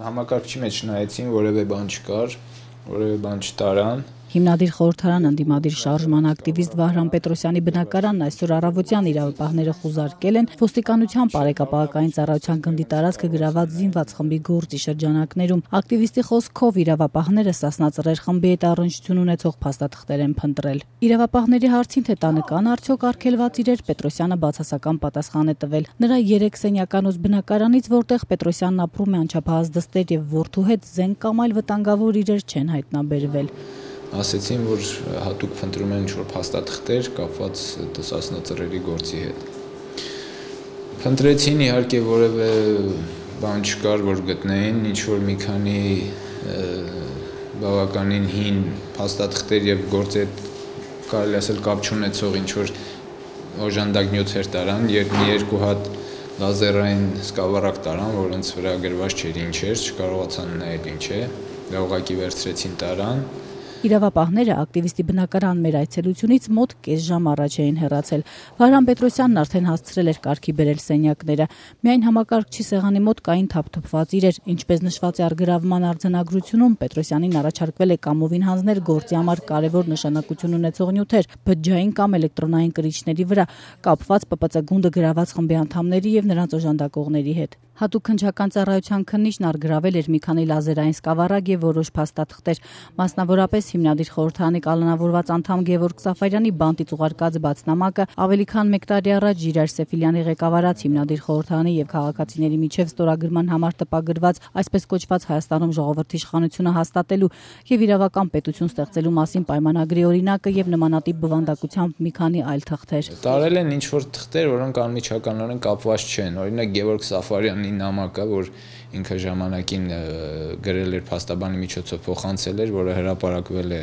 Համակարգչի մեջ նայեցին, որևէ բան չկար, որևէ բան չտարան։ Հիմնադիր խորհրդարան ընդդիմադիր շարժման ակտիվիստ Վահրամ Պետրոսյանի բնակարանն այսօր առավոտյան իրավապահները խուզարկել են ոստիկանության Պարեկապահական ծառայության գնդի տարածքը գրաված զինված խմբի գործի շրջանակներում։ Ակտիվիստի խոսքով իրավապահները Սասնա-Ծռեր խմբի հետ առնչություն ունեցող փաստաթղթեր են փնտրել։ Իրավապահների հարցին, թե տանը կան արդյոք արգելված իրեր, Պետրոսյանը բացասական պատասխան է տվել։ Նրա 3 սենյականոց բնակարանից, որտեղ Պետրոսյանն ապրում է, անչափահաս դստեր եւ որդու հետ զենք կամ այլ վտանգավոր իրեր չեն հայտնաբերվել։ Ասեցին, որ հատուկ փնտրում են ինչ-որ փաստաթղթեր կապված Սասնա-Ծռերի գործի հետ։ Փնտրեցին, իհարկե որևէ բան չկար, որ գտնեին, ինչ-որ մի քանի բավականին հին փաստաթղթեր եւ գործի հետ կարելի ասել կապ չունեցող ինչ-որ օժանդակ նյութեր տարան, երբ մի երկու հատ լազերային սկավառակ տարան, որոնց վրա գրված չէր ինչ էր, չկարողացան նայել ինչ է, դա ուղղակի վերցրեցին տարան։ Իրավապահները ակտիվիստի բնակարան մեր այցելությունից մոտ կես ժամ առաջ էին հեռացել։ Վահրամ Պետրոսյանն արդեն հասցրել էր կարգի բերել սենյակները։ Միայն համակարգչի սեղանի մոտ կային թափթփված իրեր, ինչպես նշված է առգրավման արձանագրությունում, Պետրոսյանին առաջարկվել է կամովին հանձնել գործի համար կարևոր նշանակություն ունեցող նյութեր, բջջային կամ էլեկտրոնային կրիչների վրա, կապված ՊՊՑ գունդը գրաված խմբի անդամների եւ նրանց օժանդակողների հետ։ Հատուկ քննչական ծառայության քննիչն առգրավել էր մի քանի լազերային սկավառակ եւ որոշ փաստաթղթեր, մասնավորապես հիմնադիր խորհրդարանի կալանավորված անդամ Գևորգ Սաֆարյանի բանտից ուղարկած բացնամակը, ավելի քան 1 տարի առաջ Ժիրայր Սեֆիլյանի ղեկավարած հիմնադիր խորհրդարանի եւ քաղաքացիների միջև ստորագրման համար տպագրված այսպես կոչված Հայաստանում ժողովրդի իշխանությունը հաստատելու եւ իրավական պետություն ստեղծելու մասին պայմանագրի օրինակը եւ նմանատիպ բովանդակությամբ մի քանի այլ թղթեր։ Տարել են ինչ-որ թղթեր, որոնք անմիջականորեն կապված չեն, օրինակ Գևորգ Սաֆարյանի նամակը, որ ինքը ժամանակին գրել էր փաստաբանի միջոցով փոխանցել էր, որը հրապարակվել է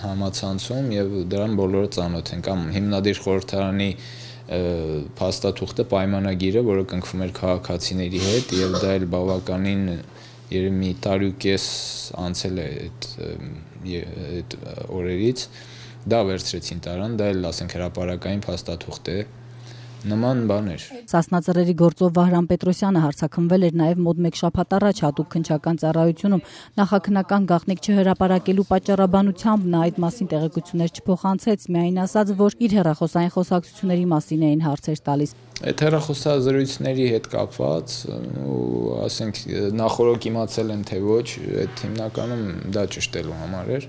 համացանցում եւ դրան բոլորը ծանոթ են, կամ հիմնադիր խորհրդարանի փաստաթուղթը պայմանագիրը, որը կնքվում էր քաղաքացիների հետ եւ դա էլ բավականին երևի մի տարի ու կես անցել է այդ օրերից, դա վերցրեցին տարան, դա էլ ասենք հրապարակային փաստաթուղթ է։ Նման բաներ։ Սասնա-Ծռերի գործով Վահրամ Պետրոսյանը հարցաքնվել էր նաև մոտ 1 շաբաթ առաջ հատուկ քննչական ծառայությունում։ Նախաքննական գաղտնիք չհրապարակելու պատճառաբանությամբ նա այդ մասին տեղեկություններ չփոխանցեց, միայն ասաց, որ իր հեռախոսային խոսակցությունների մասին էին հարցեր տալիս։ Այդ հեռախոսազրույցների հետ կապված ու ասենք նախորոք իմացել եմ թե ոչ, այդ հիմնականում դա ճշտելու համար էր։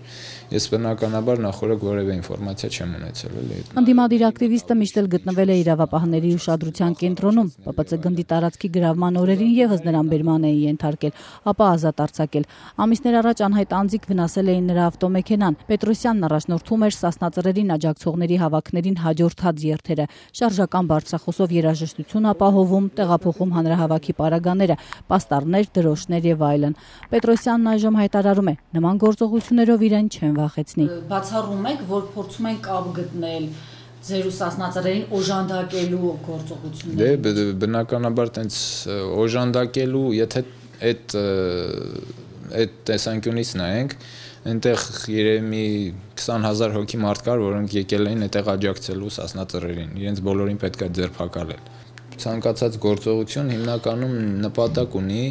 Ես բնականաբար նախորոք որևէ ինֆորմացիա չեմ ունեցել էլի։ Ընդդիմադիր ակտիվիստը միշտ էլ գտնվել է իրավապահների ուշադրության կենտրոնում, ՊՊՑ գնդի տարածքի գրավման օրերին եւս նրան բերման էին ենթարկել, ապա ազատ արձակել։ Ամիսներ առաջ անհայտ անձիկ վնասել էին նրա ավտոմեքենան։ Պետրոսյանն առաջնորդում էր Սասնա-Ծռերին աջակցողների հավաքներին հաջորդած երթերը, շարժական բարձրախոսով երաժշտություն ապահովում, տեղափոխում հանրահավաքի պարագաները, պաստառներ, դրոշներ եւ այլն։ Պետրոսյանն այժմ հայտարարում է, նման գործողություններով իրեն չեն վախեցնի։ Բացառում եք, որ փորձում են կապ գտնել ձեր ու Սասնա-Ծռերին օժանդակելու գործողությունները։ Դե բնականաբար տենց օժանդակելու, եթե այդ տեսանկյունից նայենք, այնտեղ երևի մի 20,000 հոգի մարդ կար, որոնք եկել էին այդտեղ աջակցելու Սասնա-Ծռերին, իրենց բոլորին պետք է ձերբակալել։ Ցանկացած գործողություն հիմնականում նպատակ ունի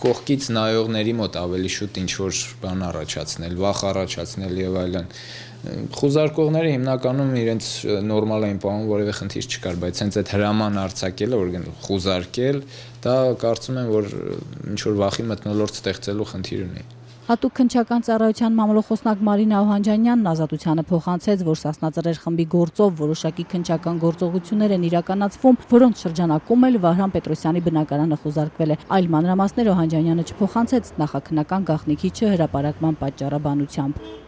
կողքից նայողների մոտ ավելի շուտ ինչ-որ բան առաջացնել, վախ առաջացնել եւ այլն։ Խուզարկողները հիմնականում իրենց նորմալ էին պահում, որևէ խնդիր չկար, բայց հենց այդ հրաման արձակելը, որ խուզարկել, դա կարծում եմ, որ ինչ-որ վախի մթնոլորտ ստեղծելու խնդիր ունի։ Հատուկ քննչական ծառայության մամլոխոսնակ Մարինա Օհանջանյանն ազատությանը փոխանցեց, որ Սասնա-Ծռեր խմբի գործով որոշակի քննչական գործողություններ են իրականացվում, որոնց շրջանակում էլ Վահրամ Պետրոսյանի բնակարանը խուզարկվել է։ Այլ մանրամասներ Օհանջանյանը չփոխանցեց նախաքննական գաղտնիքի չհրապարակման պատճառաբանությամբ։